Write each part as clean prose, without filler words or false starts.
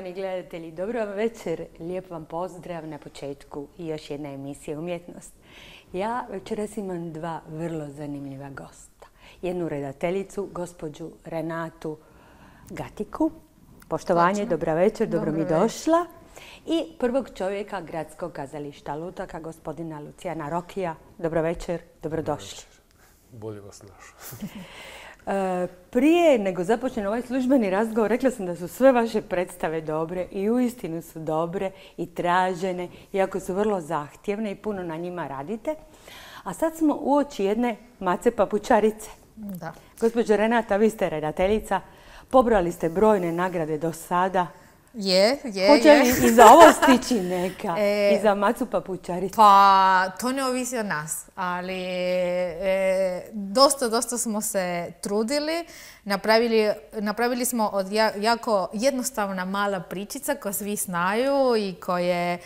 Poštovani gledatelji, dobro vam večer, lijep vam pozdrav na početku i još jedna emisija Umjetnost. Ja večeras imam dva vrlo zanimljiva gosta. Jednu redateljicu, gospođu Renatu Gatiku. Poštovanje, dobra večer, dobro mi došla. I prvog čovjeka Gradskog kazališta Lutaka, gospodina Lucijana Rokija. Dobro večer, dobrodošli. Bolje vas našao. Prije nego započne ovaj službeni razgovor, rekla sam da su sve vaše predstave dobre i uistinu su dobre i tražene, iako su vrlo zahtjevne i puno na njima radite. A sad smo uoči jedne Mace Papučarice. Da. Gospođo Renata, vi ste redateljica, pobrali ste brojne nagrade do sada. Hoće li i za ovo stići neka? I za Macu Papučaricu? Pa, to ne ovisi od nas, ali dosta smo se trudili. Napravili smo od jako jednostavna mala pričica koju svi znaju i koja je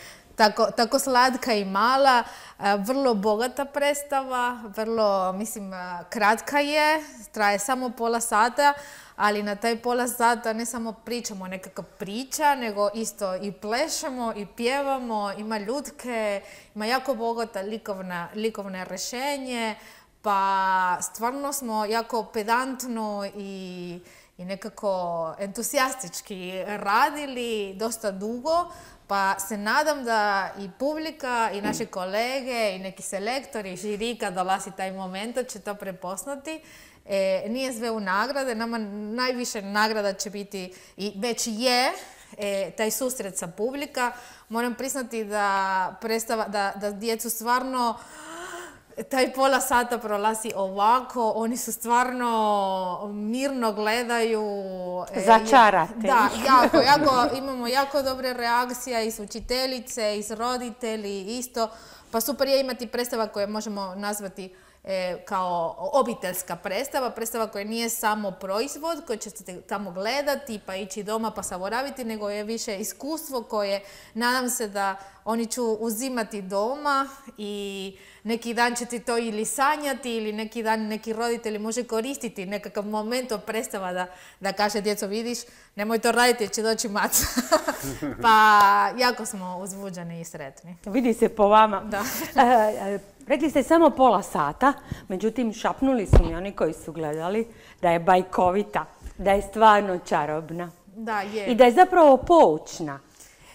tako slatka i mala, vrlo bogata predstava, vrlo, mislim, kratka je, traje samo pola sata, ali na taj pola sata ne samo pričamo nekakva priča, nego isto i plešemo i pjevamo, ima ljudke, ima jako bogata likovne rješenje, pa stvarno smo jako pedantno i nekako entuzijastički radili dosta dugo. Pa se nadam da i publika, i naši kolege, i neki selektori, i žiri kad dolazi taj moment će to prepoznati. Nije sve u nagrade, nama najviše nagrada će biti, i već je, taj susret sa publika. Moram priznati da djecu stvarno taj pola sata prolazi ovako, oni su stvarno mirno gledaju. Začarate. Da, imamo jako dobre reakcije iz učiteljice, iz roditelji isto. Pa super je imati predstava koje možemo nazvati kao obiteljska predstava koja nije samo proizvod koji ćete tamo gledati pa ići doma pa zaboraviti, nego je više iskustvo koje nadam se da oni ću uzimati doma i neki dan ćete to ili sanjati ili neki dan neki roditelji može koristiti nekakav moment od predstava da kaže djeco vidiš, nemoj to raditi, će doći Maca. Pa jako smo uzbuđeni i sretni. Vidi se po vama. Da. Rekli ste samo pola sata, međutim šapnuli su mi oni koji su gledali da je bajkovita, da je stvarno čarobna. Da, je. I da je zapravo poučna,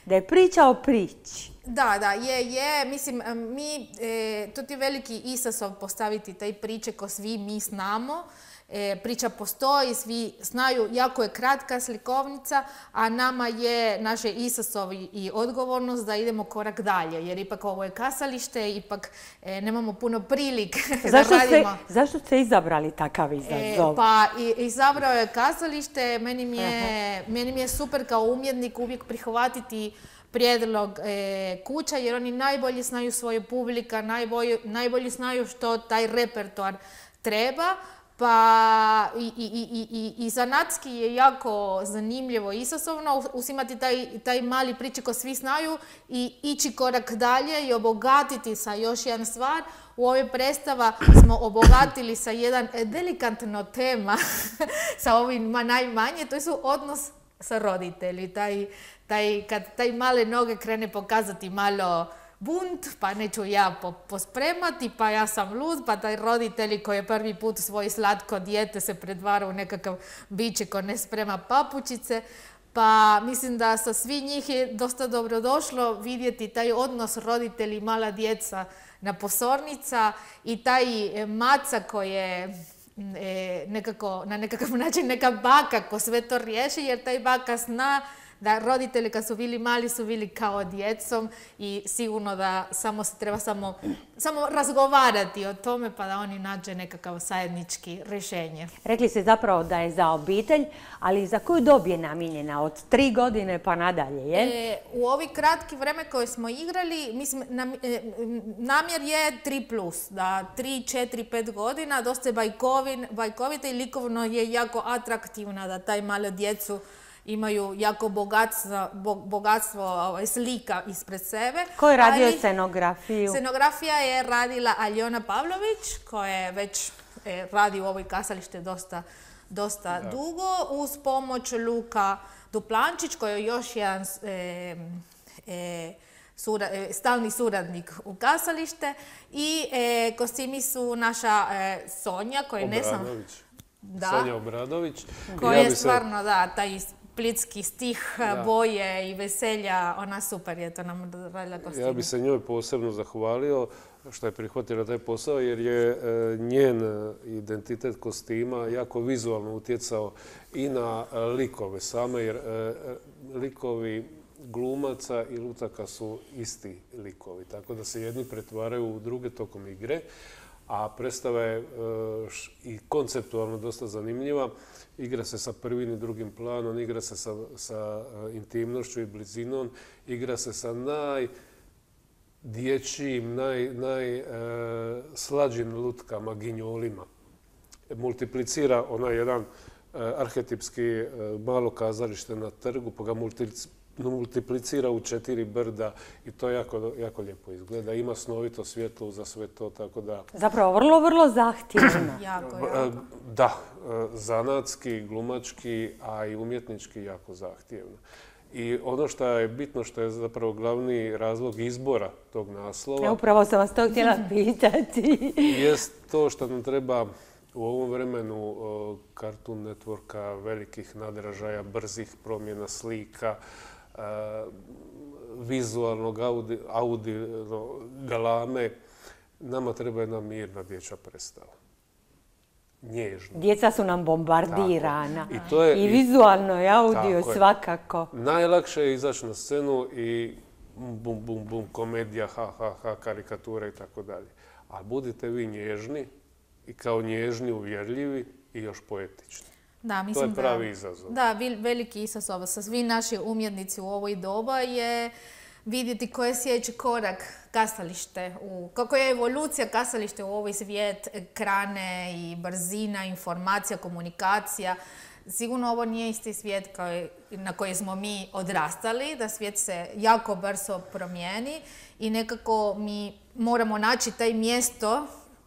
da je priča o priči. Da, je. Mislim, to ti je veliki izazov postaviti taj priče ko svi mi znamo. Priča postoji, svi znaju, jako je kratka slikovnica, a nama je naše izazov i odgovornost da idemo korak dalje, jer ipak ovo je kazalište, ipak nemamo puno prilike da radimo. Zašto ste izabrali takav izazov? Pa izabrao je kazalište, meni mi je super kao umjetnik uvijek prihvatiti prijedlog kuća, jer oni najbolje znaju svoje publika, najbolje znaju što taj repertoar treba. Pa i zanatski je jako zanimljivo i izazovno uzimati taj mali priče ko svi znaju i ići korak dalje i obogatiti sa još jedan stvar. U ovoj predstava smo obogatili sa jedan delikatno tema sa ovima najmanje, to su odnos sa roditelji. Kad taj male noge krene pokazati malo bunt, pa neću ja pospremati, pa ja sam lud, pa taj roditelji koji je prvi put svoje slatko dijete se pretvara u nekakav biće ko ne sprema papučice. Pa mislim da sa svi njih je dosta dobro došlo vidjeti taj odnos roditelji i mala djeca na pozornica i taj Maca koji je na nekakav način neka baka ko sve to riješi, jer taj baka zna da roditelji kad su bili mali su bili kao djecom i sigurno da treba samo razgovarati o tome pa da oni nađe nekakav zajednički rješenje. Rekli ste zapravo da je za obitelj, ali za koju dob je namijenjena? Od 3 godine pa nadalje, je? U ovi kratki vreme koje smo igrali, mislim, namjer je 3+, da 3, 4, 5 godina, dosta je bajkovita i likovno je jako atraktivna da taj malo djecu imaju jako bogatstvo slika ispred sebe. Ko je radio scenografiju? Scenografija je radila Aljona Pavlović, koja već radi u ovoj kazalište dosta dugo, uz pomoć Luka Duplančić koji je još jedan stalni suradnik u kazalište i kostimi su naša Sonja koja ne znam... Sonja Obradović. Koja je stvarno, taj splitski stih, boje i veselja, ona super je to nam radila kostime. Ja bi se njoj posebno zahvalio što je prihvatila taj posao jer je njen identitet kostima jako vizualno utjecao i na likove same jer likovi glumaca i lutaka su isti likovi, tako da se jedni pretvaraju u druge tokom igre, a predstava je i konceptualno dosta zanimljiva. Igra se sa prvim i drugim planom, igra se sa intimnošću i blizinom, igra se sa najdječjim, najslađim lutkama, ginjolima. Multiplicira onaj jedan arhetipski malo kazalište na trgu, pa ga multiplicira u 4 brda i to jako lijepo izgleda. Ima snovito svjetlo za sve to, tako da... Zapravo vrlo, vrlo zahtjevno. Da, zanatski, glumački, a i umjetnički jako zahtjevno. I ono što je bitno, što je zapravo glavni razlog izbora tog naslova... Upravo sam vas to htjela pitati. Jest to što nam treba u ovom vremenu Cartoon Networka, velikih nadražaja, brzih promjena slika, vizualnog audio galame, nama treba jedna mirna dječja predstava. Nježna. Djeca su nam bombardirana. I vizualno i audio svakako. Najlakše je izaći na scenu i bum, bum, bum, komedija, ha, ha, ha, karikature i tako dalje. Ali budite vi nježni i kao nježni, uvjerljivi i još poetični. Da, mislim to je pravi izazov. Da, veliki izazov sa svi naši umjetnici u ovoj doba je vidjeti koji je sljedeći korak kazalište, koja je evolucija kazalište u ovaj svijet, ekrane i brzina, informacija, komunikacija. Sigurno ovo nije isti svijet na koji smo mi odrastali, da svijet se jako brzo promijeni i nekako mi moramo naći taj mjesto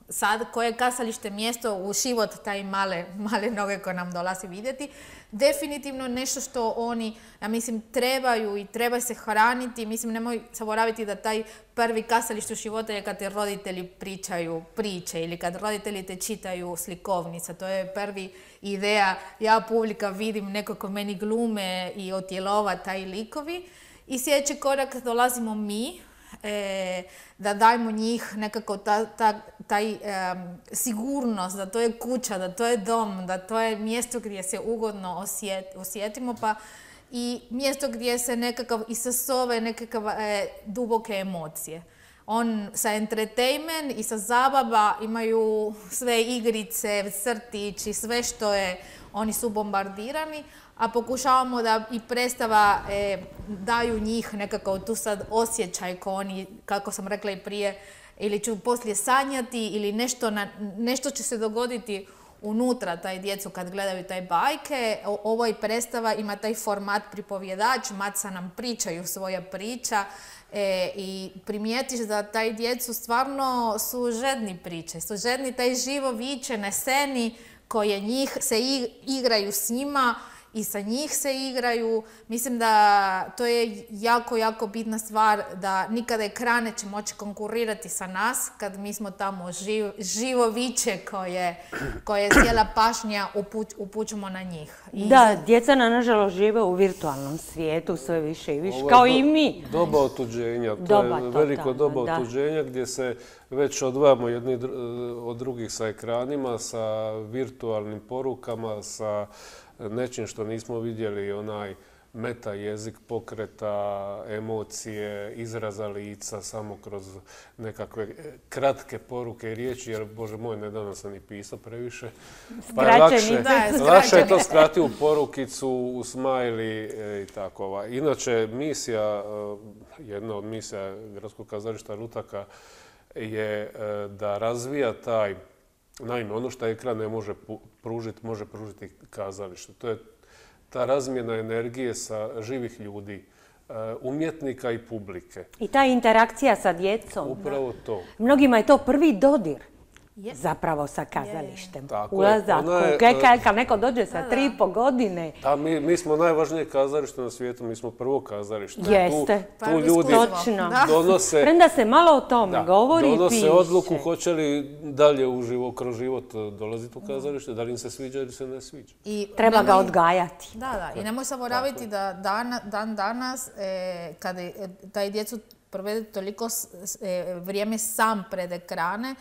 sad koje je kazalište mjesto u život taj male noge koje nam dolazi vidjeti. Definitivno nešto što oni, ja mislim, trebaju i treba se hraniti. Mislim, nemoj zaboraviti da taj prvi kazalište u životu je kad te roditelji pričaju priče ili kad roditelji te čitaju slikovnica. To je prvi ideja. Ja publika vidim neko ko meni glume i otjelova taj likovi. I sljedeći korak dolazimo mi, da dajmo njih nekako taj sigurnost, da to je kuća, da to je dom, da to je mjesto gdje se ugodno osjetimo, pa i mjesto gdje se nekakav izazove nekakve duboke emocije. On sa entertainment i sa zabava imaju sve igrice, crtići, sve što je, oni su bombardirani, a pokušavamo da i predstava daju njih nekako tu sad osjećaj ko oni, kako sam rekla i prije, ili ću poslije sanjati ili nešto će se dogoditi unutra taj djecu kad gledaju taj bajke. Ovo i predstava ima taj format pripovjedač, maca nam pričaju svoja priča i primijetiš da taj djecu stvarno su žedni priče, su žedni taj živo viče na sceni koje njih se igraju s njima i sa njih se igraju. Mislim da to je jako, jako bitna stvar da nikada ekrane će moći konkurirati sa nas kad mi smo tamo živo viče koje cijela pažnja upućujemo na njih. Da, djeca nažalost žive u virtualnom svijetu sve više i više, kao i mi. Doba otuđenja, to je veliko doba otuđenja gdje se već odvajamo jedni od drugih sa ekranima, sa virtualnim porukama, sa nečim što nismo vidjeli, onaj meta jezik pokreta, emocije, izraza lica samo kroz nekakve kratke poruke i riječi, jer Bože moj, nedavno sam i pisao previše. Pa je lakše je to skratiti u porukicu, u smajli i tako. Inače, jedna od misija Gradskog kazališta Lutaka je da razvija taj, naime, ono što ekran ne može pružiti, može pružiti kazalište. To je ta razmjena energije sa živih ljudi, umjetnika i publike. I ta interakcija sa djecom. Upravo to. Mnogima je to prvi dodir. zapravo sa kazalištem. Ulazak u Kekaj, kad neko dođe sa 3,5 godine. Da, mi smo najvažnije kazalište na svijetu, mi smo prvo kazalište. Jeste, tu ljudi donose... Premda se malo o tome govori i piše. Donose odluku hoće li dalje kroz život dolaziti u kazalište, da li im se sviđa ili se ne sviđa. Treba ga odgajati. Da, i nemoj zaboraviti da dan danas, kada taj djecu provede toliko vrijeme sam pred ekrane,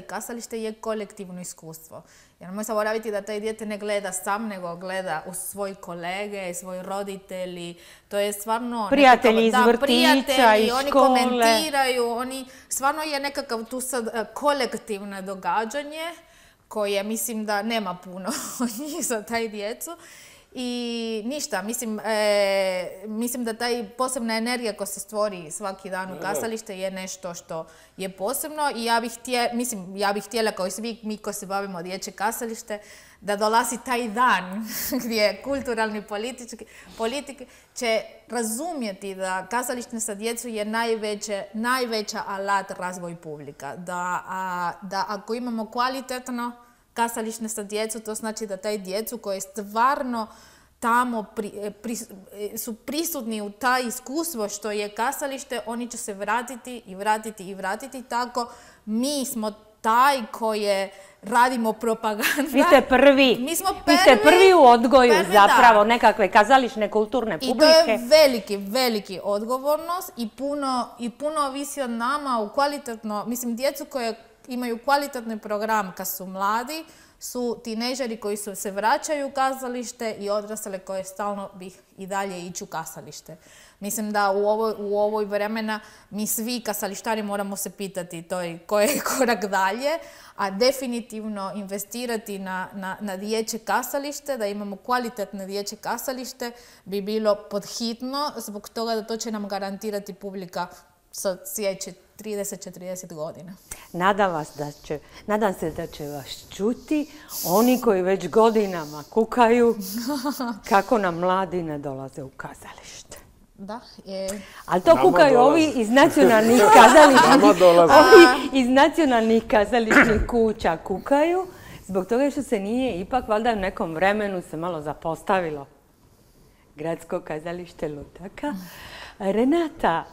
kazalište je kolektivno iskustvo. Jer nemoj zaboraviti da taj dijete ne gleda sam, nego gleda uz svoji kolege, svoji roditelji. To je stvarno... Prijatelji iz vrtića i škole. Oni komentiraju, stvarno je nekakav tu sad kolektivno događanje koje mislim da nema puno od njih za taj djecu. I ništa, mislim da taj posebna energija koja se stvori svaki dan u kazalište je nešto što je posebno i ja bih htjela kao i svi mi koji se bavimo dječje kazalište da dolazi taj dan gdje kulturalni politike će razumjeti da kazalište sa djecom je najveća alat razvoj publika. Da ako imamo kvalitetno kazalište sa djecom, to znači da taj djecu koji stvarno tamo su prisutni u taj iskustvo što je kazalište, oni će se vratiti. Tako mi smo taj koje radimo propagandu. Vi ste prvi. Mi smo Vi ste prvi u odgoju zapravo nekakve kazališne kulturne publike. I to je veliki odgovornost i puno ovisi od nama u kvalitetno, mislim, djecu koje imaju kvalitetni program kad su mladi, su tinejdžeri koji se vraćaju u kazalište i odrasle koje stalno bi i dalje ići u kazalište. Mislim da u ovoj vremena mi svi kazalištari moramo se pitati koji je korak dalje, a definitivno investirati na dječje kazalište, da imamo kvalitetne dječje kazalište, bi bilo podhitno zbog toga da to će nam garantirati publika sa sljedeće 30-40 godina. Nadam se da će vas čuti oni koji već godinama kukaju kako nam mladi ne dolaze u kazalište. Da. Ali to kukaju ovi iz nacionalnih kazališnih kuća kukaju, zbog toga što se nije ipak valjda u nekom vremenu se malo zapostavilo Gradsko kazalište Lutaka. Renata,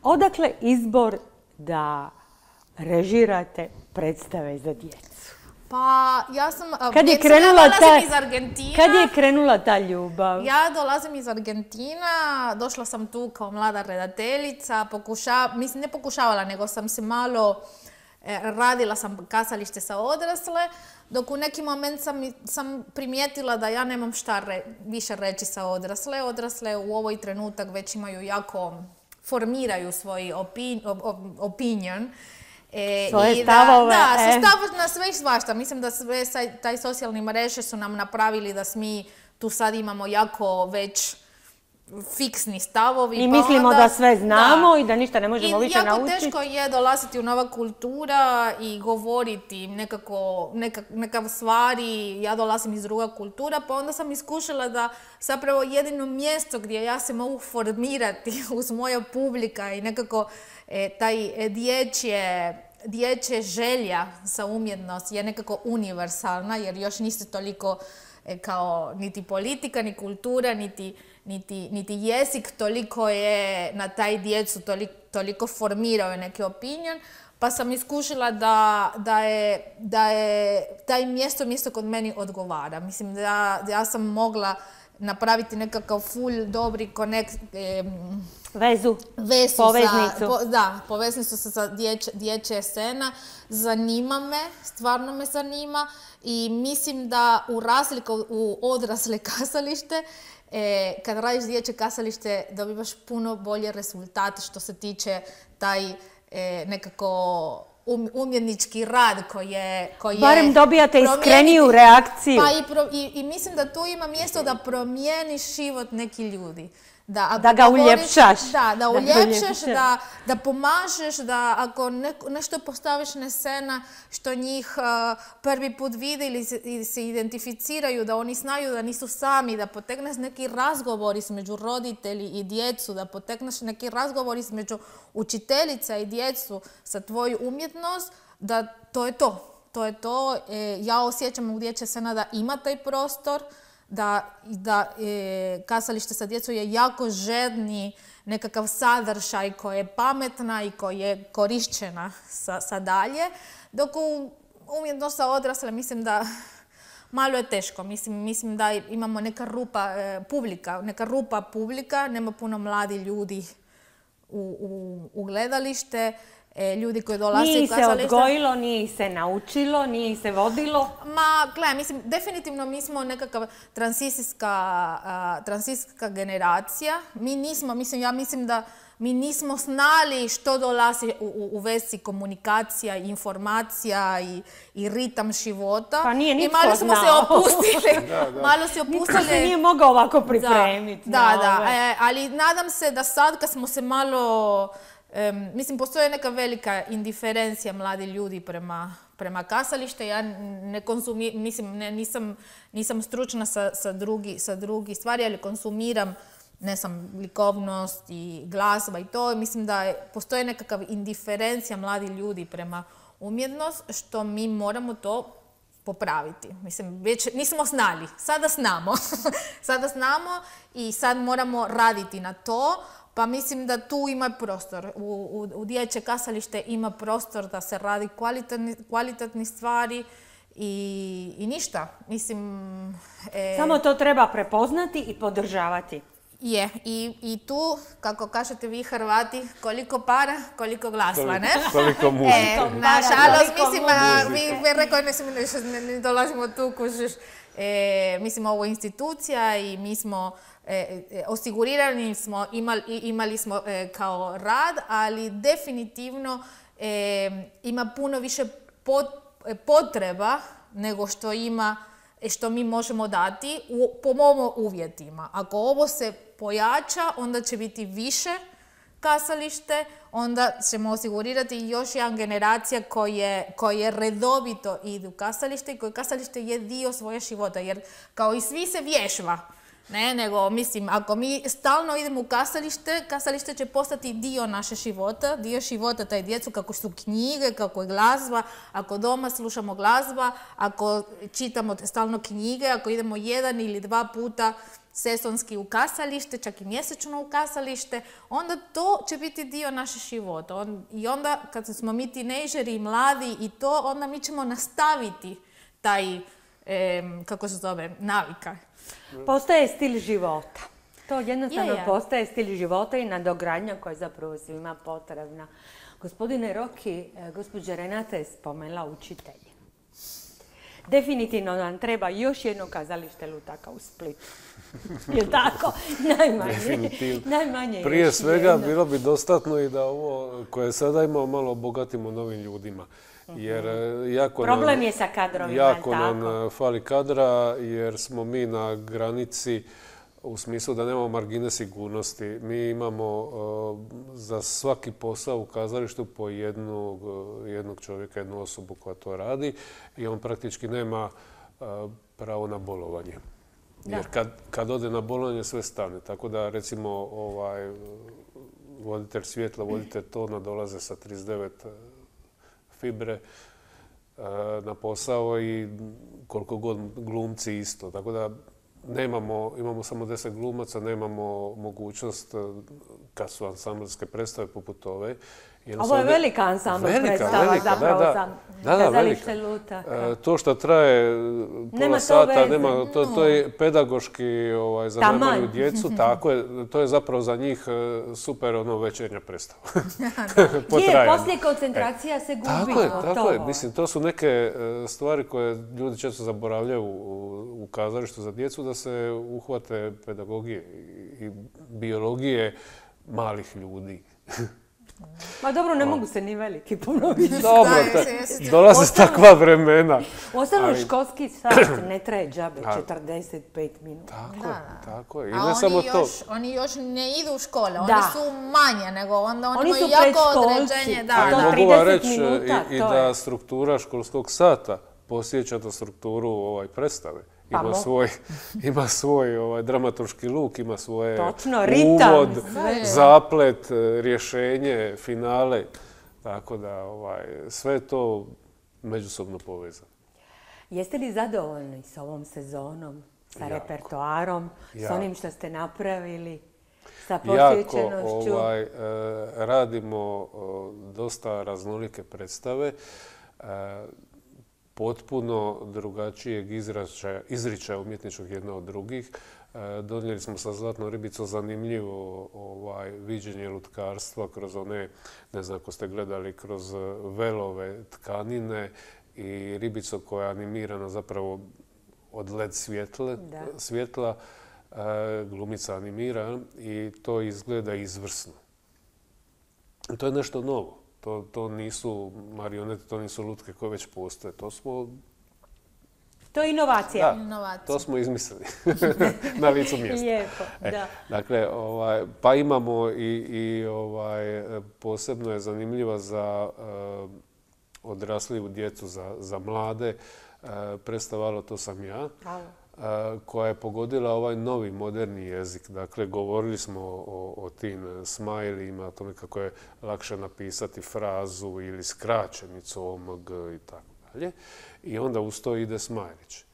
odakle izbor da režirate predstave za djecu? Pa ja sam... Ja dolazim iz Argentina. Kad je krenula ta ljubav? Ja dolazim iz Argentina, došla sam tu kao mlada redateljica, ne pokušavala, nego sam se malo... radila sam kazalište sa odrasle, dok u neki moment sam primijetila da ja nemam šta više reći sa odrasle. Odrasle u ovoj trenutak već imaju jako... formiraju svoj opinion. Svoje stavove. Stavove na sve i svašta. Mislim da sve taj socijalni mreže su nam napravili da mi tu sad imamo jako već fiksni stavovi. I mislimo da sve znamo i da ništa ne možemo više naučiti. I jako teško je dolaziti u nova kultura i govoriti nekav stvari. Ja dolazim iz druga kultura, pa onda sam iskušala da zapravo jedino mjesto gdje ja se mogu formirati uz moja publika i nekako taj dječje želja za umjetnost je nekako univerzalna, jer još niste toliko kao niti politika, ni kultura, niti jezik toliko je na taj djecu, toliko formirao neki opinion, pa sam iskušila da je taj mjesto kod meni odgovara. Mislim da ja sam mogla napraviti nekakav full dobri vezu, poveznicu. Poveznicu sa dječje scena. Zanima me, stvarno me zanima i mislim da u razliku u odrasle kazalište, kad radiš dječje kazalište dobivaš puno bolje rezultate što se tiče taj nekako umjetnički rad koji barem dobijate iskreniju reakciju. I mislim da tu ima mjesto da promijeniš život neki ljudi. Da ga uljepšaš. Da uljepšaš, da pomažeš, da ako nešto postaviš na scena što njih prvi put vide ili se identificiraju, da oni znaju da nisu sami, da potegneš neki razgovor između roditelji i djecu, da potegneš neki razgovor između učiteljica i djecu sa tvoju umjetnost, da to je to. To je to. Ja osjećam u dječje scena da ima taj prostor, da kazalište sa djecom je jako žedni nekakav sadržaj koji je pametna i koji je korišćena sa dalje, dok u umjetnost sa odrasle mislim da malo je teško. Mislim da imamo neka rupa publika, nema puno mladi ljudi u gledalište. Ljudi koji dolaze u kazalište. Nije se odgojilo, nije se naučilo, nije se vodilo? Gledaj, mislim, definitivno mi smo nekakav tranzicijska generacija. Ja mislim da mi nismo znali što dolazi u vezi komunikacija, informacija i ritam života. Pa nije nitko znao. I malo smo se opustili. Nitko se nije mogao ovako pripremiti. Ali nadam se da sad kad smo se malo... Mislim, postoje neka velika indiferencija mladi ljudi prema kazalište. Ja nisam stručna sa drugi stvari, ali konsumiram, likovnost i glazba i to. Mislim da postoje nekakav indiferencija mladi ljudi prema umjetnost, što mi moramo to popraviti. Mislim, već nismo znali, sada znamo. Sada znamo i sad moramo raditi na to. Pa mislim da tu ima prostor. U dječje kazalište ima prostor da se radi kvalitetne stvari i ništa. Mislim... Samo to treba prepoznati i podržavati. Je. I tu, kako kažete vi Hrvati, koliko para, koliko glasva, ne? Koliko muzike. Nažalost, mislim, vi rekao, ne dolazimo tu, kužiš. Mislim, ovo je institucija i mi smo osigurirani smo, imali smo kao rad, ali definitivno ima puno više potreba nego što mi možemo dati po mojim uvjetima. Ako ovo se pojača, onda će biti više kazalište, onda ćemo osigurirati još jedna generacija koje redovito idu u kazalište i koje kazalište je dio svoje života. Jer kao i svi se vježba, nego mislim, ako mi stalno idemo u kazalište će postati dio naše života, dio života taj djecu, kako su knjige, kako je glazba, ako doma slušamo glazba, ako čitamo stalno knjige, ako idemo 1 ili 2 puta sezonski u kazalište, čak i mjesečno u kazalište, onda to će biti dio našeg života. I onda kad smo mi tinejdžeri i mladi i to, onda mi ćemo nastaviti taj, kako se zove, navika. Postaje stil života. To jednostavno postaje stil života i nadogradnja koja je zapravo svima potrebna. Gospodine Roki, gospođa Renata je spomenula učitelji. Definitivno nam treba još jedno kazalište lutaka u Splitu. Je tako? Najmanje. Prije svega bilo bi dostatno i da ovo koje sada imamo malo obogatimo novim ljudima. Jer problem je sa kadrovima. Jako nam fali kadra jer smo mi na granici u smislu da nemamo margine sigurnosti. Mi imamo za svaki posao u kazalištu po jednog čovjeka, jednu osobu koja to radi i on praktički nema pravo na bolovanje. Jer kad ode na bolovanje sve stane. Tako da recimo voditelj svjetla, voditelj tona dolaze sa 39 fibre na posao i koliko god glumci isto. Tako da imamo samo 10 glumaca, nemamo mogućnost kad su ansamblske predstave poput ove. Ovo je velika ansambl predstava zapravo za kazalište lutaka. To što traje pola sata, to je pedagoški za najmanju djecu, tako je, to je zapravo za njih super večernja predstava. Poslije koncentracija se gubi. Tako je, mislim, to su neke stvari koje ljudi često zaboravljaju u kazalištu za djecu, da se uhvate pedagogije i biologije malih ljudi. Ma dobro, ne mogu se ni veliki ponoviti. Dobro, dolaze takva vremena. Ostalo školski sat ne traje džabe, 45 minuta. Tako je. I ne samo to. Oni još ne idu u škole, oni su manje nego onda oni imaju jako određenje. Mogu vam reći i da struktura školskog sata posjeća na strukturu predstave. Ima svoj dramaturški luk, ima svoje uvod, zaplet, rješenje, finale. Tako da sve je to međusobno povezano. Jeste li zadovoljni s ovom sezonom, sa repertoarom, s onim što ste napravili, sa posjećenošću? Radimo dosta raznolike predstave. Potpuno drugačijeg izričaja umjetničkog jedna od drugih. Donijeli smo sa Zlatnom ribicom zanimljivo viđenje lutkarstva kroz one, ne znam ako ste gledali, kroz velove tkanine i ribicu koja je animirana zapravo od LED svjetla, glumica animira i to izgleda izvrsno. To je nešto novo. To nisu marionete, to nisu lutke koje već postoje. To je inovacija. Da, to smo izmislili na licu mjesta. Lijepo, da. Dakle, pa imamo i posebno je zanimljiva za odrasliju djecu, za mlade. Predstava To sam ja, koja je pogodila ovaj novi moderni jezik. Dakle, govorili smo o tim smajlijima, o tome kako je lakše napisati frazu ili skraćenicu OMG i tako dalje. I onda uz to ide smajlić.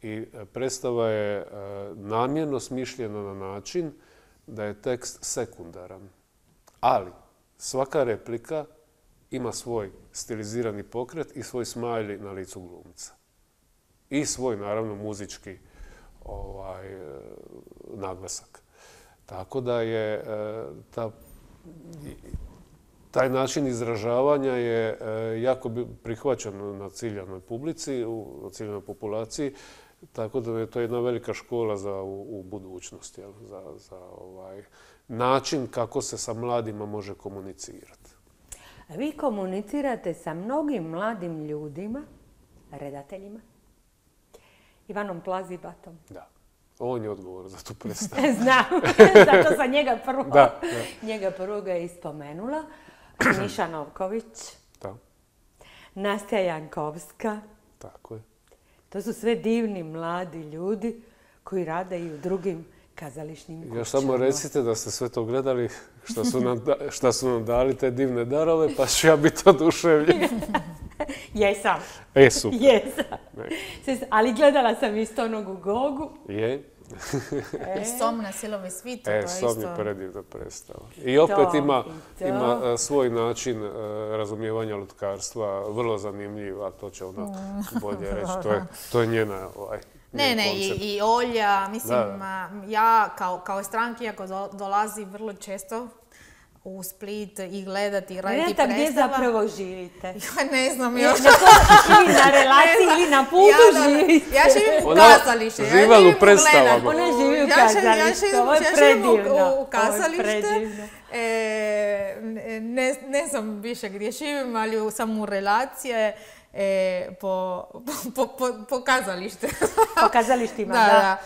I predstava je namjerno smišljena na način da je tekst sekundaran. Ali svaka replika ima svoj stilizirani pokret i svoj smajli na licu glumca. I svoj, naravno, muzički naglasak. Tako da je taj način izražavanja je jako prihvaćen na ciljanoj publici, na ciljanoj populaciji, tako da je to jedna velika škola u budućnosti, za način kako se sa mladima može komunicirati. Vi komunicirate sa mnogim mladim ljudima, redateljima, Ivanom Plazibatom. Da. On je odgovor za tu predstavu. Znam, zato sam njega prvoga je ispomenula. Miša Novković, Nastja Jankovska. Tako je. To su sve divni mladi ljudi koji rade i u drugim kazališnim kućama. Još samo recite da ste sve to gledali, šta su nam dali te divne darove, pa ću ja biti oduševljen. Jesam. Super. Jesam. Ali gledala sam isto onog u Gogu. Je. Som na Silovoj svitu. Som je predivna predstava. I opet ima svoj način razumijevanja lutkarstva, vrlo zanimljiv, a to će ona bolje reći. To je njena Ne, i Olja, mislim, ja kao stranki, ako dolazi vrlo često u Split i gledati i raditi predstava. Gdje zapravo živite? Ja ne znam još. Na relaciji ili na putu živite? Ja živim u kazalištu. Živala u predstavama. Ona živi u kazalištu. Ovo je predivno. U kazalište. Ne znam više gdje živim, ali sam u relacije po kazalište. Po kazalištima, da.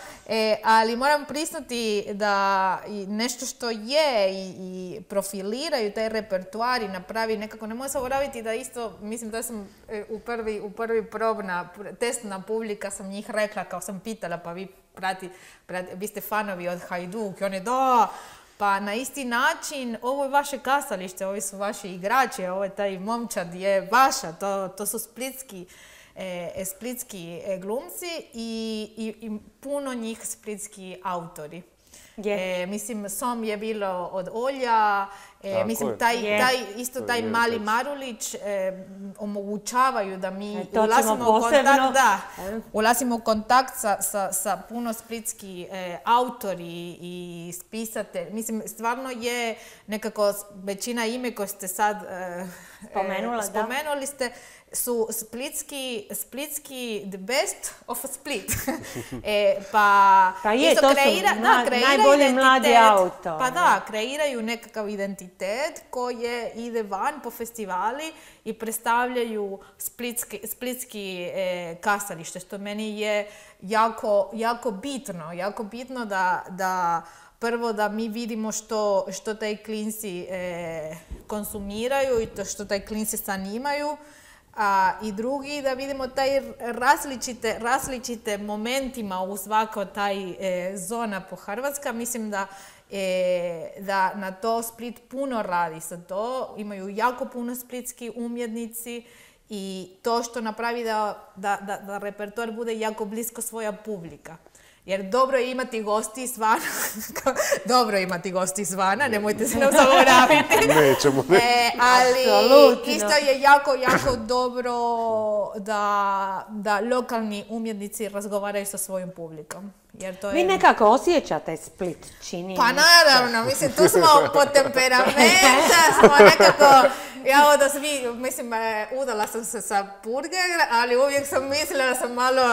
Ali moram priznati da nešto što je i profiliraju taj repertoar i napravi nekako, ne mogu zaboraviti da isto, mislim da sam u prvi testna publika sam njih rekla, kao sam pitala, pa vi ste fanovi od Hajduk i oni pa na isti način, ovo je vaše kazalište, ovi su vaši igrači, ovo je taj momčad je vaša, to su splitski glumci i puno njih splitski autori. Mislim, Som je bilo od Olja, mislim, taj mali Marulić omogućavaju da mi ulazimo u kontakt sa puno splitski autori i spisatelji. Mislim, stvarno je nekako većina ime koje ste sad spomenuli ste, su splitski the best of Split. Pa je, to su najbolji mladi autori. Pa da, kreiraju nekakav identitet identitet koje ide van po festivali i predstavljaju splitski kazalište, što meni je jako bitno. Jako bitno da prvo da mi vidimo što taj klinci konsumiraju i to što taj klinci zanimaju, i drugi da vidimo taj različite momentima u svakoj taj zona po Hrvatska. Mislim da na to Split puno radi sa to. Imaju jako puno splitski umjetnici i to što napravi da repertoar bude jako blisko svoja publika. Jer dobro je imati gosti izvana, nemojte se nam zaboraviti. Nećemo. Ali isto je jako dobro da lokalni umjetnici razgovaraju sa svojim publikom. Vi nekako osjećate Split, čini. Pa naravno, mislim, tu smo po temperamenta, smo nekako, mislim, udala sam se sa burger, ali uvijek sam mislila da sam malo,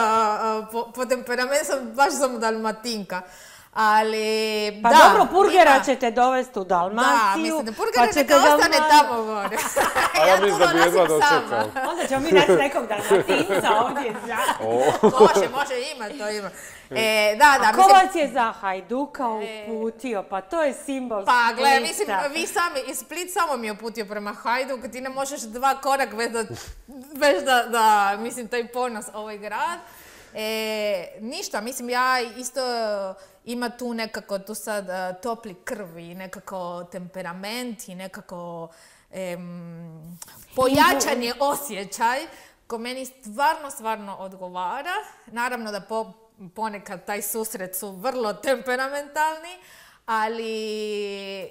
po temperamentu baš sam Dalmatinka. Ali, pa dobro, burgera ćete dovesti u Dalmaciju. Da, mislim da burgera neka ostane tamo gore. A ja mislim da bi jedva dočekao. Onda ćemo mi naći nekog Dalmatinca ovdje. Može, ima, to ima. A ko vas je za Hajduka uputio? Pa to je simbol Splita. Pa gledaj, mislim, vi sami, Split samo mi je uputio prema Hajduku, ti ne možeš 2 korak bez da, mislim, taj ponos ovaj grad. Ništa, mislim, ja isto ima tu nekako tu sad topli krv i nekako temperament i nekako pojačan osjećaj ko meni stvarno odgovara. Naravno da ponekad taj susret su vrlo temperamentalni, ali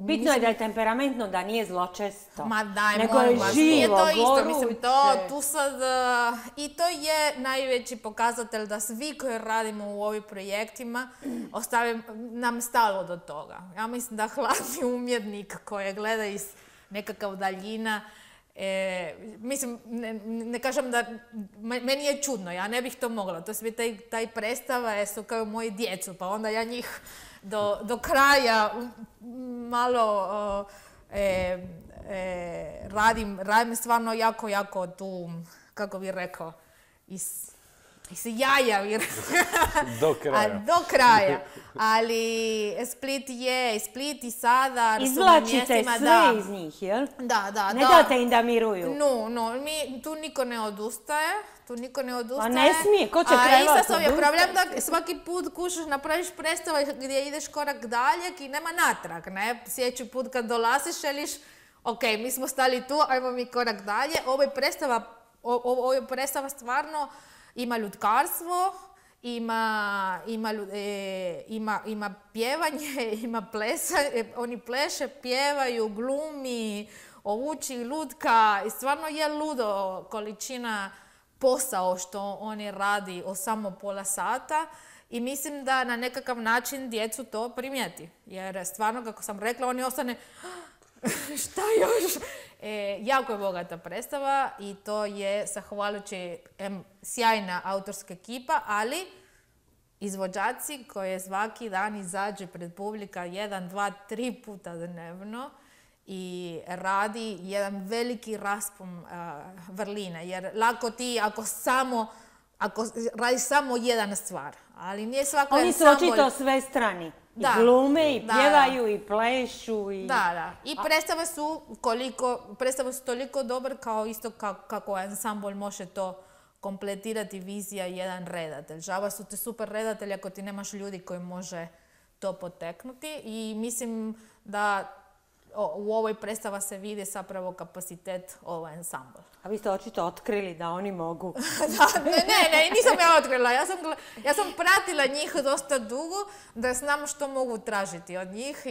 bitno je da je temperamentno, da nije zločesto. Ma daj, nego je živo, goruće. Tu sad, i to je najveći pokazatelj da svi koji radimo u ovim projektima nam stalo do toga. Ja mislim da hladni umjetnik koji gleda iz nekakav daljina, mislim, ne kažem da, meni je čudno, ja ne bih to mogla. To svi taj predstava su kao moji djecu, pa onda ja njih do kraja malo radim stvarno jako tu, kako bih rekao, iz jaja. Do kraja. Ali Split i sada... Izvlačite sve iz njih, jel? Da. Ne date im da miruju? Tu niko ne odustaje. Pa ne smije, ko će trebati odustati? A je problem da svaki put kušaš, napraviš predstavu gdje ideš korak dalje i nema natrag, ne? Sljedeći put kad dolaziš, želiš, ok, mi smo stali tu, ajmo mi korak dalje. Ovo je predstava stvarno ima ljudkarstvo, ima pjevanje, ima plesanje, oni pleše, pjevaju, glumi, ovuči, lutka, i stvarno je ludo količina posao što oni radi o samo pola sata i mislim da na nekakav način djecu to primijeti. Jer stvarno, kako sam rekla, oni ostane šta još? Jako je bogata predstava i to je zahvaljujući sjajna autorska ekipa, ali izvođači koji svaki dan izađe pred publika 1, 2, 3 puta dnevno i radi jedan veliki raspon vrline. Jer lako ti ako radiš samo jedan stvar, ali nije svako oni su očito sve strani. I glume, i pjevaju, i plešu. Da. I predstave su toliko dobre kao isto kako ansambl može to kompletirati vizija jedan redatelj. Žaba su te super redatelji ako ti nemaš ljudi koji može to poteknuti i mislim da u ovoj predstava se vidi zapravo kapacitet ovaj ansambl. A vi ste očito otkrili da oni mogu. Ne, nisam ja otkrila. Ja sam pratila njih dosta dugo da znam što mogu tražiti od njih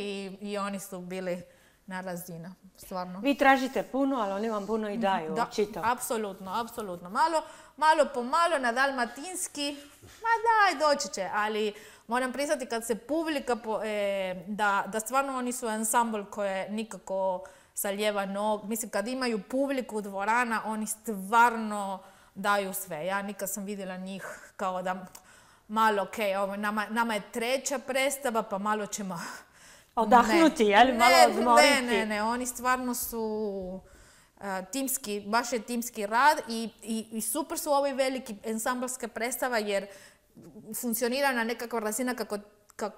i oni su bili na razinu, stvarno. Vi tražite puno, ali oni vam puno i daju, očito. Apsolutno. Malo po malo na dalmatinski, doći će, ali moram priznati kad se publika, da stvarno oni su ansambl koje nikako sa lijeva nog. Mislim, kad imaju publiku dvorana, oni stvarno daju sve. Ja nikad sam vidjela njih kao da malo, nama je treća predstava, pa malo ćemo odahnuti, jel? Malo odmoriti. Ne, oni stvarno su timski, baš je timski rad i super su ove velike ensamblske predstava jer funkcionira na nekakva razina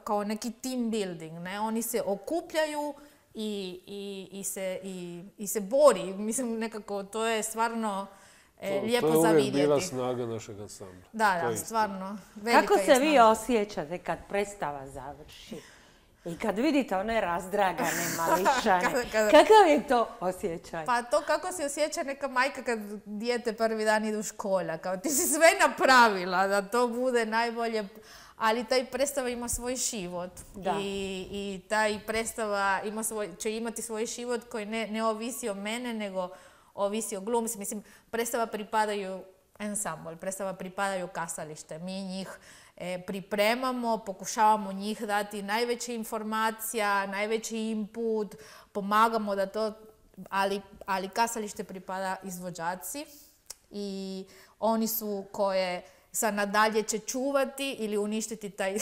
kao neki team building, ne? Oni se okupljaju i se bori. Mislim, nekako, to je stvarno lijepo za vidjeti. To je uvijek bila snaga našeg ansambla. Da, stvarno. Velika kako se vi osjećate kad predstava završi? I kad vidite one razdragane mališane, kakav je to osjećaj? Pa to kako se osjeća neka majka kad dijete prvi dan ide u škola. Kao ti si sve napravila da to bude najbolje. Ali taj predstava ima svoj život. I taj predstava će imati svoj život koji ne ovisi o mene, nego ovisi o glumci. Mislim, predstava pripadaju ansambl, predstava pripadaju kazalište. Mi njih pripremamo, pokušavamo njih dati najveće informacija, najveći input, pomagamo da to, ali kazalište pripada izvođači i oni su koje sad nadalje će čuvati ili uništiti taj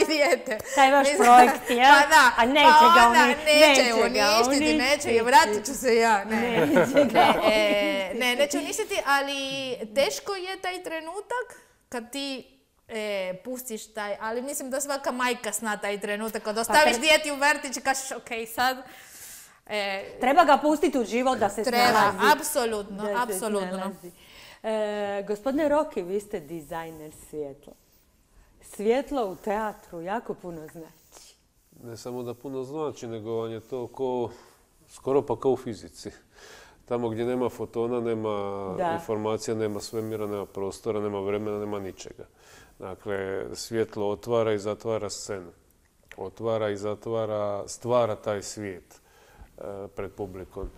dijete. Taj vaš projekt, ja? Pa da, a neće ga uništiti, neće i vratit ću se ja. Neće uništiti, ali teško je taj trenutak kad ti pustiš taj, ali mislim da svaka majka zna taj trenutak. Kad ostaviš dijete u vrtić i kažeš ok, sad... Treba ga pustiti u život da se snalazi. Treba, apsolutno. Gospodine Roki, vi ste dizajner svjetla. Svjetlo u teatru jako puno znači. Ne samo da puno znači, nego vam je to skoro pa kao u fizici. Tamo gdje nema fotona, nema informacija, nema svemira, nema prostora, nema vremena, nema ničega. Dakle, svjetlo otvara i zatvara scenu. Otvara i stvara taj svijet pred publikom.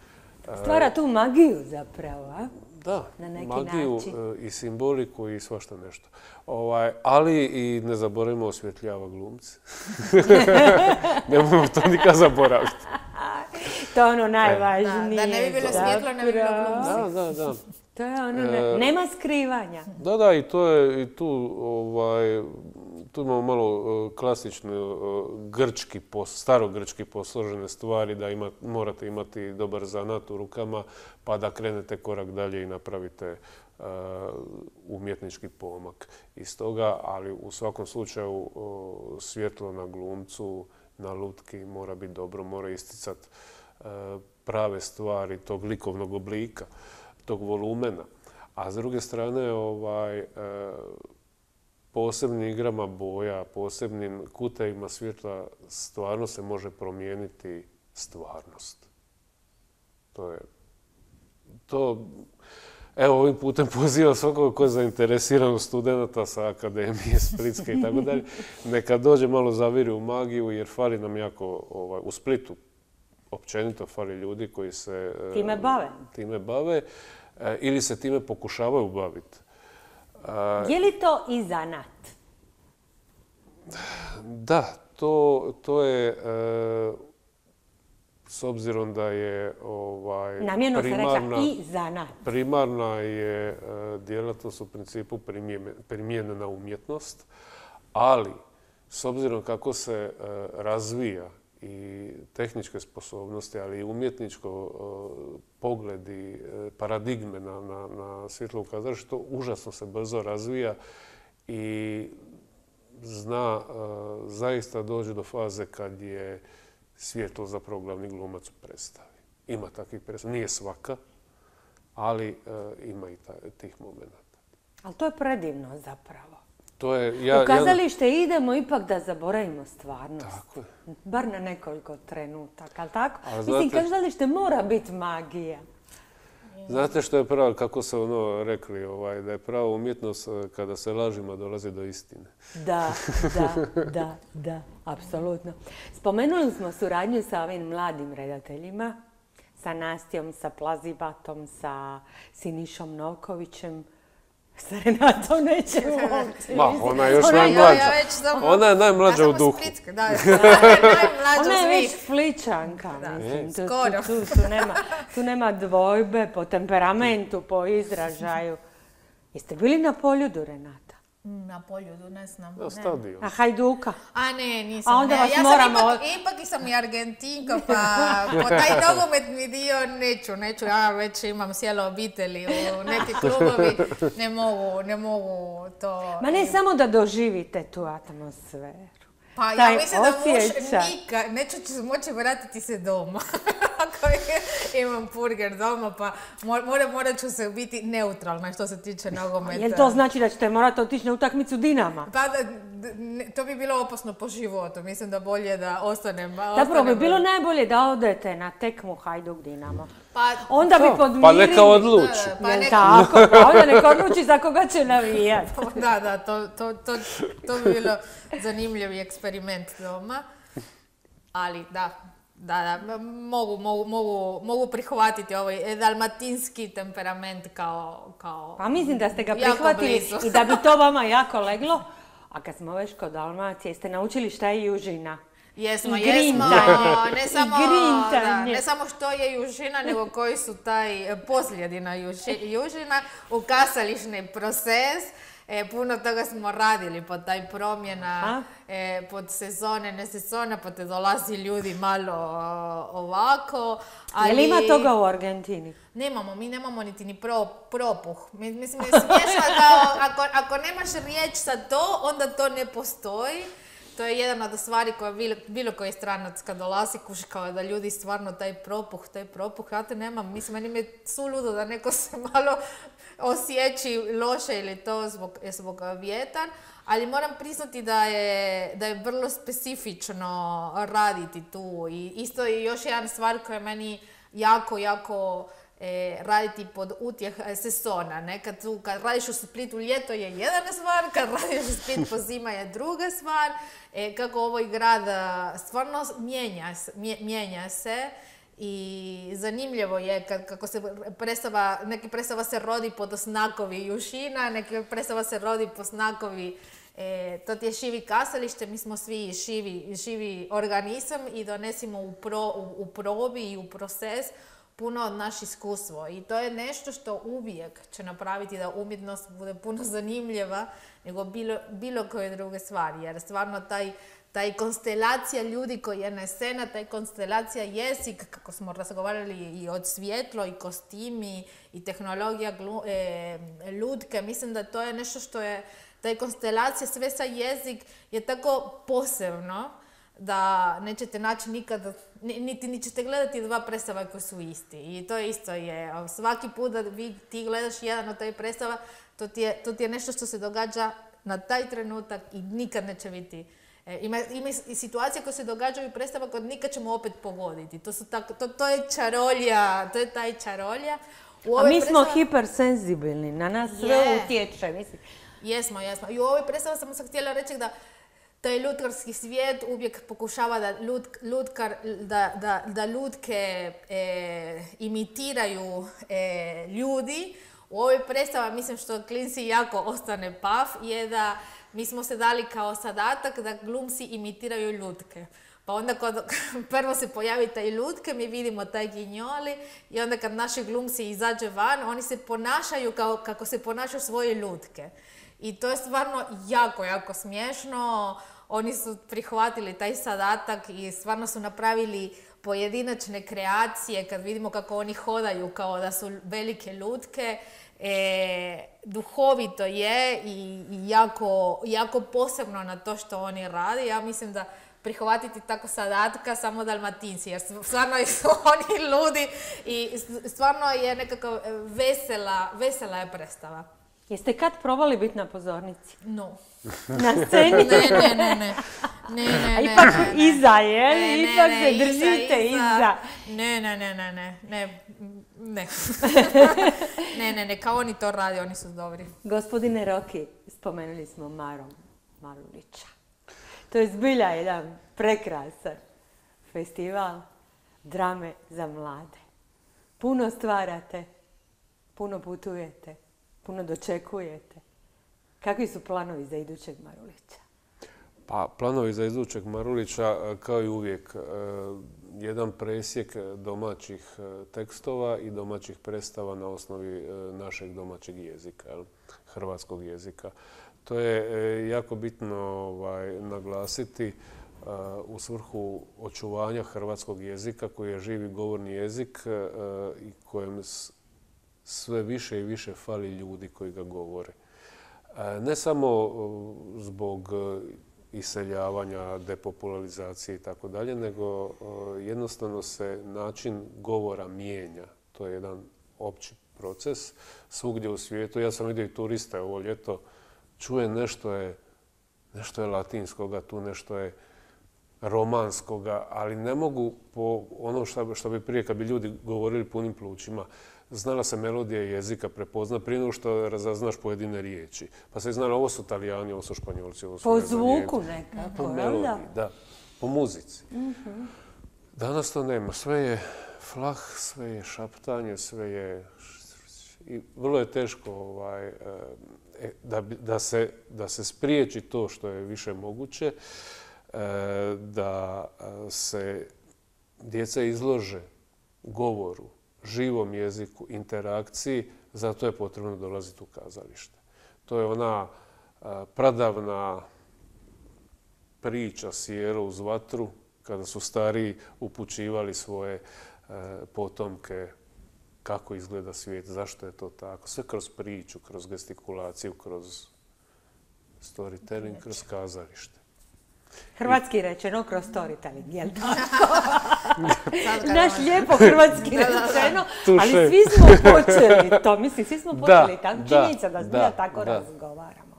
Stvara tu magiju zapravo, a? Da, magiju i simboliku i svašta nešto. Ali i ne zaboravimo osvjetljava glumce. Nemojmo to nikad zaboraviti. To je ono najvažnije. Da ne bi bilo svjetlo, ne bi bilo glumci. Da. To je ono, nema skrivanja. Da, i to je, tu imamo malo klasične starogrčki posložene stvari, da morate imati dobar zanat u rukama, pa da krenete korak dalje i napravite umjetnički pomak iz toga, ali u svakom slučaju svjetlo na glumcu, na lutki mora biti dobro, mora isticati prave stvari tog likovnog oblika, tog volumena. A s druge strane, posebnim igrama boja, posebnim kutevima svjetla stvarno se može promijeniti stvarnost. Evo, ovim putem pozivam svakoga ko je zainteresiran studenta sa Akademije Splitske i tako dalje, neka dođe malo zaviri u magiju jer fali nam jako u Splitu. Općenito fali ljudi koji se time bave ili se time pokušavaju baviti. Je li to i zanat? Da, to je, s obzirom da je namjerno se rekla i zanat. Primarna je djelatnost u principu primijenjena umjetnost, ali s obzirom kako se razvija i tehničke sposobnosti, ali i umjetničko pogled i paradigme na svjetlo u kazalištu, užasno se brzo razvija i zna zaista doći do faze kad je svjetlo zapravo glavni glumac u predstavi. Ima takvih predstava, nije svaka, ali ima i tih momenata. Ali to je predivno zapravo. U kazalište idemo ipak da zaboravimo stvarnost. Tako je. Bar na nekoliko trenutaka, ali tako? Mislim, kazalište mora biti magija. Znate što je pravo, kako se rekli, da je prava umjetnost kada se lažima dolazi do istine. Da, apsolutno. Spomenuli smo suradnju sa ovim mladim redateljima, sa Nastijom, sa Plazibatom, sa Sinišom Novkovićem. Sa Renatom nećemo uopće. Ona je još najmlađa. Ona je najmlađa u duhu. Ona je već Spličanka. Tu nema dvojbe po temperamentu, po izražaju. Jeste bili na Poljudu, Renata? Na Poljudu, ne znam. Na stadion. A Hajduka? A ne, nisam. A onda vas ja moramo... ipak sam i Argentinka, pa po taj nogometni dio neću. Ja već imam cijelo obitelji u neki klubovi, ne mogu to... Ma ne samo da doživite tu atmosferu. Pa ja mislim da muž nikad neću moći vratiti se doma. Ako imam burger doma, pa morat ću se biti neutralna što se tiče nogometa. Jel to znači da ćete morati otići na utakmicu Dinama? Pa to bi bilo opasno po životu. Mislim da bolje da ostanem. Zapravo bi bilo najbolje da odete na tekmu Hajduk Dinamo. Onda bi podmirili... Pa neka odluči. Jel tako? Pa onda neka odluči za koga će navijati. Da, to bi bilo zanimljiv eksperiment doma. Ali da, mogu prihvatiti ovaj dalmatinski temperament kao Pa mislim da ste ga prihvatili i da bi to vama jako leglo. A kad smo već kod Dalmacije, jeste naučili šta je južina? Jesmo. Ne samo što je južina, nego koji su taj posljedina južina, ukazališni proces. Puno toga smo radili pod taj promjena, pod sezone, ne sezone, pa te dolazi ljudi malo ovako. Ali... Je li ima toga u Argentini? Mi nemamo niti ni propuh. Mislim, je smiješno da ako nemaš riječ za to, onda to ne postoji. To je jedna od stvari koja bilo koji stranac kad dolazi kuži kao da ljudi stvarno taj propuh, ja te nemam. Mislim, meni je suludo da neko se malo osjeći loše ili to zbog vjetar, ali moram priznati da je vrlo specifično raditi tu. I isto je još jedna stvar koja je meni jako raditi pod utjeh sezona. Kad radiš u Splitu ljeto je jedna stvar, kad radiš u Splitu zima je druga stvar. Kako ovaj grad stvarno mijenja se i zanimljivo je kako se neki predstava se rodi pod znakovi južina, neki predstava se rodi pod znakovi to ti je živi kazalište, mi smo svi živi organizam i donesimo u probi i u proces puno od naš iskustvo. I to je nešto što uvijek će napraviti da umjetnost bude puno zanimljiva nego bilo koje druge stvari. Jer stvarno taj konstelacija ljudi koji je na scena, taj konstelacija jezik, kako smo razgovarali i od svjetlo i kostimi i tehnologija lutke, mislim da to je nešto što je, taj konstelacija sve sa jezik je tako posebno da nećete naći nikad, niti ćete gledati dva predstava koji su isti. I to isto je, svaki put da ti gledaš jedan od taj predstava, to ti je nešto što se događa na taj trenutak i nikad neće biti. Ima i situacije koje se događaju i predstava koje nikad ćemo opet pogoditi. To je čarolja, to je taj čarolja. A mi smo hipersenzibilni, na nas sve utječe, mislim. Jesmo. I u ovoj predstavi sam se htjela reći da taj lutkarski svijet uvijek pokušava da lutke imitiraju ljudi. U ovoj predstavi, mislim što klinci jako ostane paf, je da mi smo se dali kao zadatak da glumci imitiraju lutke. Pa onda prvo se pojavi taj lutke, mi vidimo taj ginjoli i onda kad naši glumci izađe van, oni se ponašaju kako se ponašaju svoje lutke. I to je stvarno jako smiješno. Oni su prihvatili taj zadatak i stvarno su napravili pojedinačne kreacije kad vidimo kako oni hodaju kao da su velike lutke. Duhovito je i jako posebno na to što oni rade. Ja mislim da prihvatiti tako zadatka samo Dalmatinci, jer stvarno su oni ludi i stvarno je nekako vesela je predstava. Jeste kad probali biti na pozornici? No. Na sceni? Ne. A ipak iza, je? Ipak se držite iza. Ne, kao oni to radi, oni su dobri. Gospodine Roki, spomenuli smo Marulića. To je zbilja jedan prekrasan festival drame za mlade. Puno stvarate, puno putujete, puno dočekujete. Kakvi su planovi za idućeg Marulića? Pa, planovi za idućeg Marulića, kao i uvijek, jedan presjek domaćih tekstova i domaćih predstava na osnovi našeg domaćeg jezika, hrvatskog jezika. To je jako bitno naglasiti u svrhu očuvanja hrvatskog jezika koji je živi govorni jezik i kojem sve više i više fali ljudi koji ga govore. Ne samo zbog iseljavanja, depopularizacije i tako dalje, nego jednostavno se način govora mijenja. To je jedan opći proces svugdje u svijetu. Ja sam vidio i turiste ovo ljeto, čuje nešto je latinskoga, tu nešto je romanskoga, ali ne mogu po ono što bi prije kad bi ljudi govorili punim plućima. Znala se melodija jezika prepozna prije nego što razaznaš pojedine riječi. Pa se znala ovo su Talijani, ovo su Španjolci, ovo su po zvuku nekako, po melodiji, da, po muzici. Danas to nema. Sve je flah, sve je šaptanje, sve je... I vrlo je teško da se spriječi to što je više moguće, da se djeca izlože govoru, živom jeziku, interakciji, zato je potrebno dolaziti u kazalište. To je ona pradavna priča sjelo uz vatru, kada su stariji upućivali svoje potomke kako izgleda svijet, zašto je to tako. Sve kroz priču, kroz gestikulaciju, kroz storytelling, kroz kazalište. Hrvatski rečeno kroz storytelling, jel tako? Naš lijepo hrvatski rečeno, ali svi smo počeli to. Mislim, svi smo počeli tako. Činjenica da zbilja tako razgovaramo.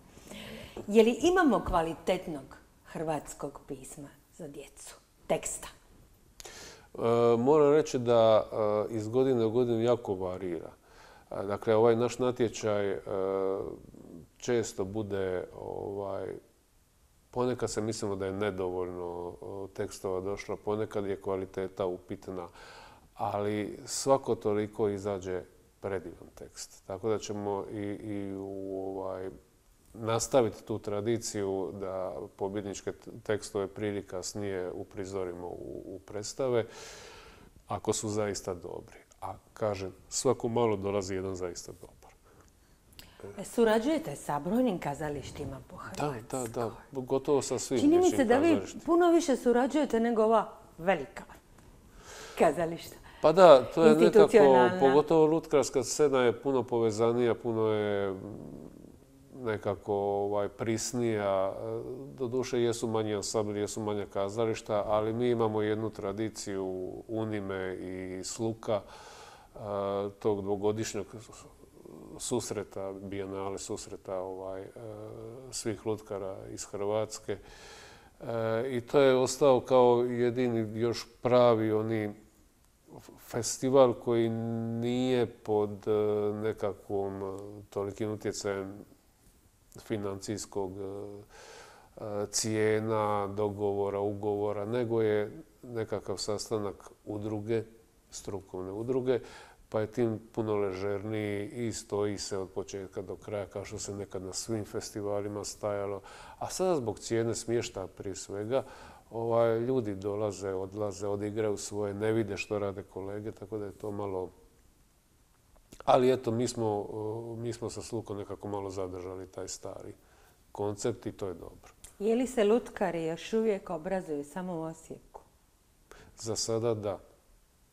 Je li imamo kvalitetnog hrvatskog pisma za djecu, teksta? Moram reći da iz godine u godinu jako varira. Dakle, ovaj naš natječaj često bude ponekad se mislimo da je nedovoljno tekstova došlo, ponekad je kvaliteta upitna, ali svako toliko izađe predivan tekst. Tako da ćemo nastaviti tu tradiciju da pobjedničke tekstove prije kasnije uprizorimo u predstave, ako su zaista dobri. A kažem, svako malo dolazi jedan zaista dobar. Surađujete sa brojnim kazalištima po Hrvatskoj? Da, gotovo sa svim čini mi se da vi kazalištima. puno više surađujete nego ova velika kazališta. Pa da, to je nekako, pogotovo lutkarska scena je puno povezanija, puno je nekako prisnija. Doduše jesu manji ansambli, jesu manja kazališta, ali mi imamo jednu tradiciju Unime i Sluka, tog dvogodišnjeg susreta, bijenale susreta svih lutkara iz Hrvatske. I to je ostao kao jedini još pravi oni festival koji nije pod nekakvom tolikim utjecajem financijskog cijena, dogovora, ugovora, nego je nekakav sastanak udruge, strukovne udruge, pa je tim puno ležerniji i stoji se od početka do kraja, kao što se nekad na svim festivalima stajalo. A sada zbog cijene smještaja prije svega, ljudi dolaze, odlaze, odigraju svoje, ne vide što rade kolege, tako da je to malo... Ali eto, mi smo sa Slukom nekako malo zadržali taj stari koncept i to je dobro. Je li se lutkari još uvijek obrazuju samo u Osijeku? Za sada da.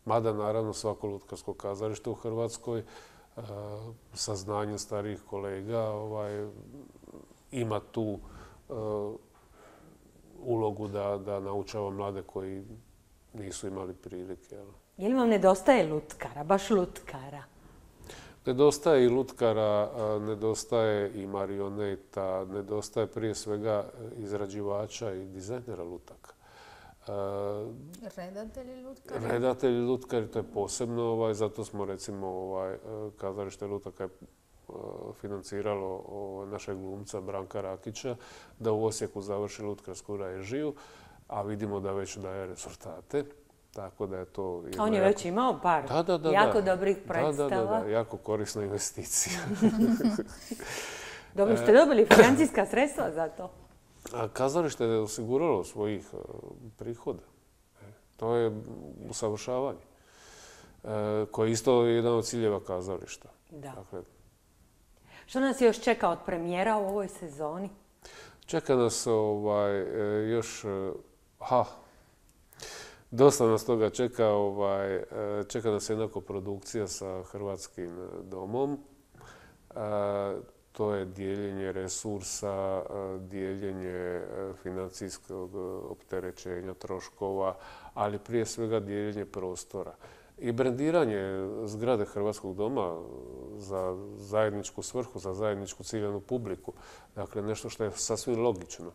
Mada naravno svako lutkarsko kazalište u Hrvatskoj sa znanjem starijih kolega ima tu ulogu da naučava mlade koji nisu imali prilike. Je li vam nedostaje lutkara, baš lutkara? Nedostaje i lutkara, nedostaje i marioneta, nedostaje prije svega izrađivača i dizajnera lutaka. Redatelji lutkari? Redatelji lutkari, to je posebno, zato smo recimo kazalište lutaka je financiralo našeg glumca Branka Rakića da u Osijeku završi lutkarsku režiju, a vidimo da već daje rezultate. Tako da je to... On je već imao par jako dobrih predstava. Da, jako korisna investicija. Dobro, ste dobili financijska sredstva za to? Kazalište je osiguralo svojih prihoda. To je usavršavanje, koje je isto jedan od ciljeva kazališta. Da. Što nas još čeka od premijera u ovoj sezoni? Čeka nas još... Dosta nas toga čeka. Čeka nas jedna koprodukcija sa Hrvatskim domom. To je dijeljenje resursa, dijeljenje financijskog opterećenja, troškova, ali prije svega dijeljenje prostora. I brendiranje zgrade Hrvatskog doma za zajedničku svrhu, za zajedničku ciljanu publiku. Dakle, nešto što je sasvim logično.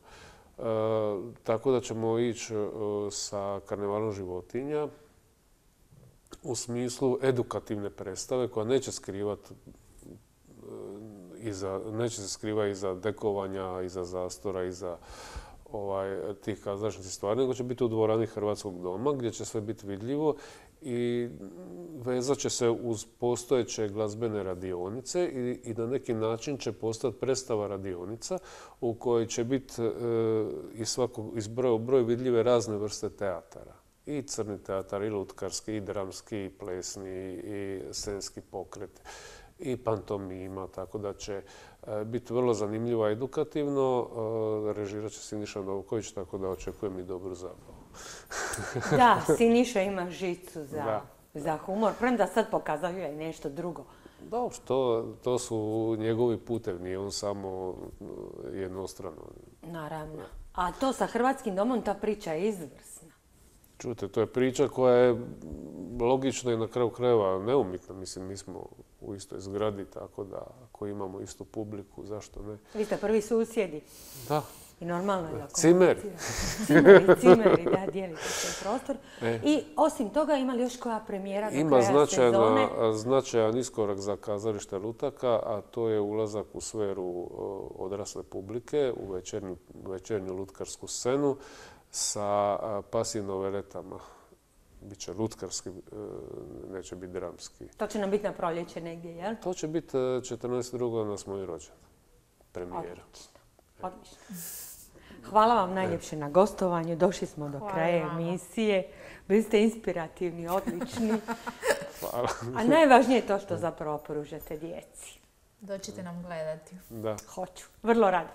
Tako da ćemo ići sa karnevalom životinja u smislu edukativne predstave koja neće se skrivati iza dekovanja, iza zastora, iza tih kazališnih stvari, nego će biti u dvorani Hrvatskog doma gdje će sve biti vidljivo i vezat će se uz postojeće glazbene radionice i na neki način će postati predstava radionica u kojoj će biti iz broja u broj vidljive razne vrste teatara. I crni teatar, i lutkarski, i dramski, i plesni, i scenski pokret, i pantomima, tako da će biti vrlo zanimljivo i edukativno. Režirat će Siniša Novković, tako da očekujem i dobru zabavu. Da, Siniša ima žicu za humor, premda sad pokazuje nešto drugo. Dobro, to su njegovi putevi, nije on samo jednostrano. Naravno. A to sa Hrvatskim domom, ta priča je izvrsna. Čujte, to je priča koja je logična i na kraju krajeva neumitna. Mislim, mi smo u istoj zgradi, tako da ako imamo istu publiku, zašto ne? Vi ste prvi susjedi. Da. I normalno je da Cimeri. Cimeri, da, dijelite se prostor. I osim toga, ima li još koja premijera do kraja sezone? Ima značajan iskorak za kazalište Lutaka, a to je ulazak u sferu odrasle publike, u večernju lutkarsku scenu sa pasivnim noveletama. Biće lutkarski, neće biti dramski. To će nam biti na proljeće negdje, jel? To će biti 14.2. na moj rođendan. Premijera. Odlično. Hvala vam najljepše na gostovanju. Došli smo do kraja emisije. Bili ste inspirativni, odlični. Hvala. A najvažnije je to što zapravo pružate djeci. Dođite nam gledati. Da. Hoću. Vrlo rado.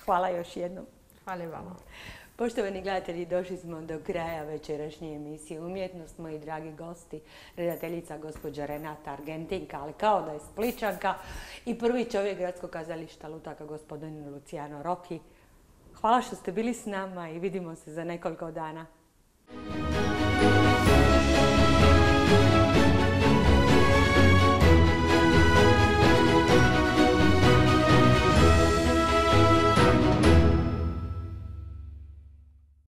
Hvala još jednom. Hvala i vama. Poštovani gledatelji, došli smo do kraja večerašnje emisije Umjetnost. Moji dragi gosti, redateljica gospođa Renata Argentinka, ali kao da je Spličanka, i prvi čovjek Gradskog kazališta Lutaka, gospodin Luciano Rocchi. Hvala što ste bili s nama i vidimo se za nekoliko dana.